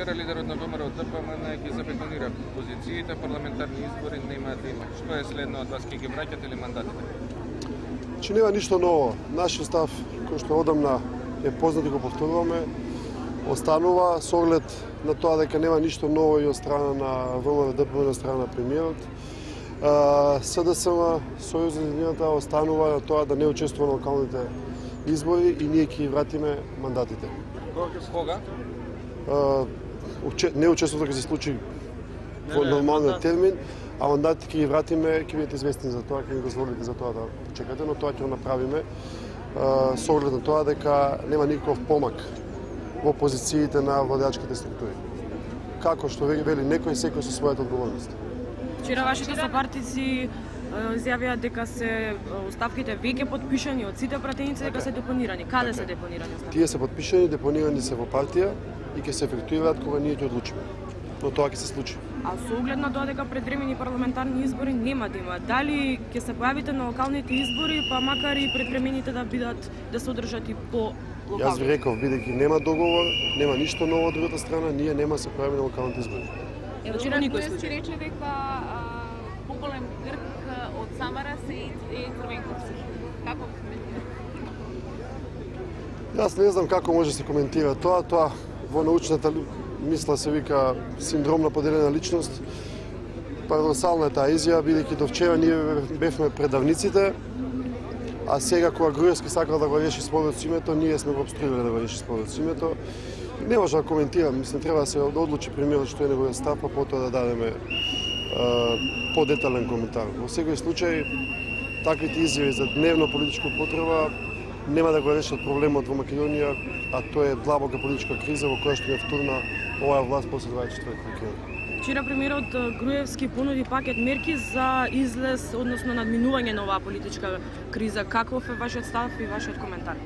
Лидерот на ВМРО ДПМН ги забетонира позициите, парламентарни избори нема да има. Што е следно од вас, ќе ги враќате ли мандатите? Че нема ништо ново. Нашиот став, кој што одамна е познат и го повторуваме, останува со оглед на тоа дека нема ништо ново и од страна на ВМРО ДПМН, од страна на премиерот. СДСМ, Сојуз за единината, останува на тоа да не учествува на локалните избори и ние ќе ги вратиме мандатите. Кога? Не учеството ќе се случи во нормалниот термин, а мандатите ќе ги вратиме, ќе бидете известни за тоа, ќе ни дозволите за тоа да почекате, но тоа ќе го направиме со оглед на тоа дека нема никаков помак во позициите на владеачките структури. Како што вели некој, секој со својата одговорност. Вчера вашите сопартици изјавија дека се оставките веќе потпишани од сите пратеници, дека се депонирани. Каде се депонирани оставките? Тие се потпишани, депонирани се во партија и ќе се ефектуираат кога ние ќе одлучиме. Но тоа ќе се случи. А со оглед на тоа дека предвремени парламентарни избори нема да има, дали ќе се појавите на локалните избори, па макар и предвремените да се одржат и по локалните? Јас ви реков, бидејќи нема договор, нема ништо ново од другата страна, ние нема се појавиме на локалните избори. Вчера никој случај рече дека поголем грк од Самара е Црвенковци. Како коментирате? Јас не знам како може да се коментира тоа. Тоа во научната мисла се вика синдром на поделена личност. Парадоксална е таа изјава, бидејќи до вчера ние бевме предавниците, а сега кога Груевски сакал да го реши спорот со името, ние сме го обструирали да го реши спорот со името. Не може да коментирам, мислам треба да се одлучи премиерот што е неговиот став, па потоа да дадеме подетален коментар. Во секој случај, таквите изјави за дневно политичко потреба нема да го решат проблемот во Македонија, а тоа е длабока политичка криза во која што е втурна оваа власт после 24 октомври. Вчера премиерот Груевски понуди пакет мерки за излез, односно надминување на оваа политичка криза. Каков е вашиот став и вашиот коментар?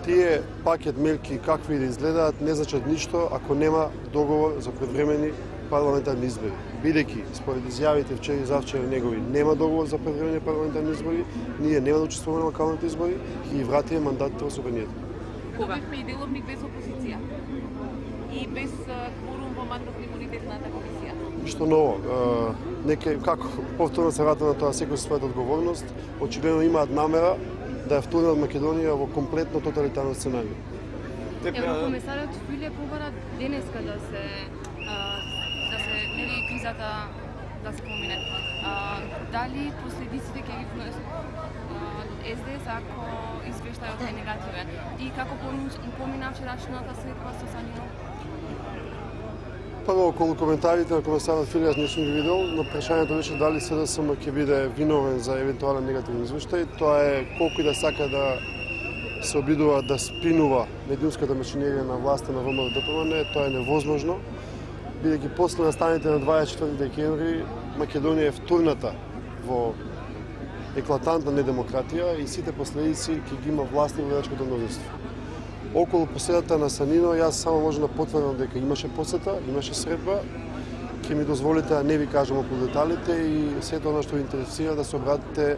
Тие пакет мерки какви да изгледаат не значат ништо ако нема договор за предвремени парламентарни избори. Бидејќи според изјавите вчера и завчера негови нема договор за предвремени парламентарни избори, ние нема да учествуваме на локалните избори и вратиме мандатите во Собранието. Кога бевме и деловник без опозиција и без кворум во мандатно-имунитетната комисија? Ништо ново. Како повторно се врата на тоа секој со својата одговорност, очигледно имаат намера да ја втурнат Македонија во комплетно тоталитарно сценарио. Еврокомисарот Филе побара денеска да се нели кризата да се помине. Дали последиците ќе ги понесат СДС ако извештајот е негативен? И како помина вчерашната средба со Санино? Прво, околу коментарите на комесарот Филе, јас не сум ги видел, но прашањето беше дали СДСМ ќе биде виновен за евентуален негативен извештај. Тоа е колку и да сака да се обидува да спинува медиумската машинерија на власта на ВМРО ДПМН, тоа е невозможно, бидејќи после настаните на 24 декември Македонија е втурната во еклатантна недемократија и сите последици ќе ги има власт и владеачкото мнозинство. Околу посетата на Санино, јас само можам да потврдам дека имаше посета, имаше средба, ќе ми дозволите да не ви кажам околу деталите и сето она што ви интересира да се обратите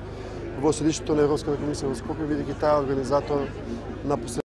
во седишното на Европската комисија во Скопје, бидејќи таа организатор на посетата.